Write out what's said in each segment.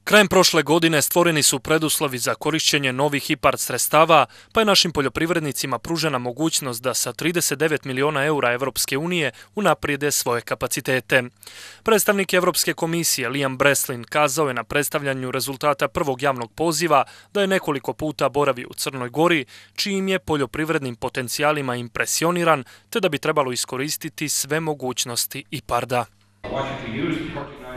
Krajem prošle godine stvoreni su preduslovi za korišćenje novih IPARD sredstava, pa je našim poljoprivrednicima pružena mogućnost da sa 39 miliona eura Evropske unije unaprijede svoje kapacitete. Predstavnik Evropske komisije Liam Breslin kazao je na predstavljanju rezultata prvog javnog poziva da je nekoliko puta boravio u Crnoj Gori, čijim je poljoprivrednim potencijalima impresioniran, te da bi trebalo iskoristiti sve mogućnosti IPARD-a.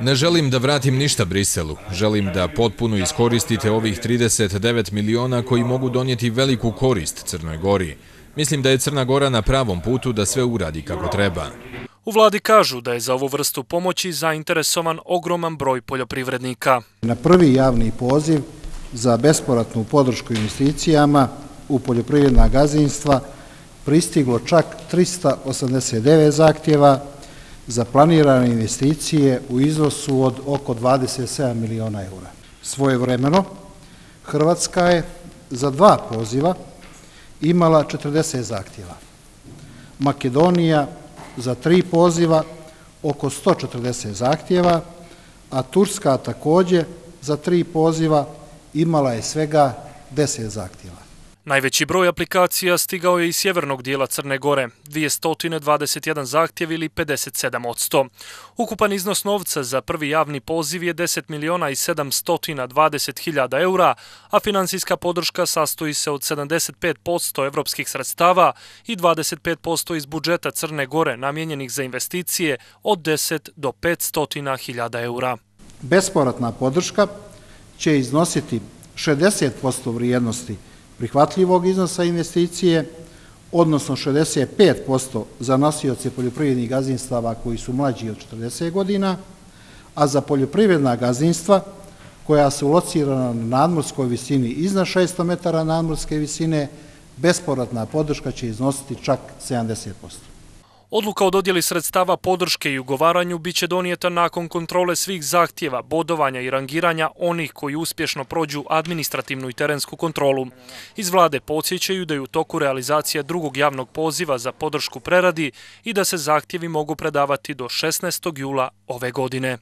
Ne želim da vratim ništa Briselu. Želim da potpuno iskoristite ovih 39 miliona koji mogu donijeti veliku korist Crnoj Gori. Mislim da je Crna Gora na pravom putu da sve uradi kako treba. U vladi kažu da je za ovu vrstu pomoći zainteresovan ogroman broj poljoprivrednika. Na prvi javni poziv za bespovratnu podršku investicijama u poljoprivredna gazdinstva pristiglo čak 389 zahtjeva za planirane investicije u iznosu od oko 27 miliona eura. Svojevremeno, Hrvatska je za 2 poziva imala 40 zahtjeva. Makedonija za 3 poziva oko 140 zahtjeva, a Turska također za 3 poziva imala je svega 10 zahtjeva. Najveći broj aplikacija stigao je iz sjevernog dijela Crne Gore, 221 zahtjev ili 57%. Ukupan iznos novca za prvi javni poziv je 10 miliona i 720 hiljada eura, a financijska podrška sastoji se od 75% evropskih sredstava i 25% iz budžeta Crne Gore namijenjenih za investicije od 10 do 500 hiljada eura. Bespovratna podrška će iznositi 60% vrijednosti prihvatljivog iznosa investicije, odnosno 65% za nosioce poljoprivrednih gazdinstava koji su mlađi od 40 godina, a za poljoprivredna gazdinstva koja su locirana na nadmorskoj visini iznad 600 metara nadmorske visine, bespovratna podrška će iznositi čak 70%. Odluka o dodjeli sredstava podrške i ugovaranju biće donijeta nakon kontrole svih zahtjeva, bodovanja i rangiranja onih koji uspješno prođu administrativnu i terensku kontrolu. Iz vlade podsjećaju da je u toku realizacija drugog javnog poziva za podršku preradi i da se zahtjevi mogu predavati do 16. jula ove godine.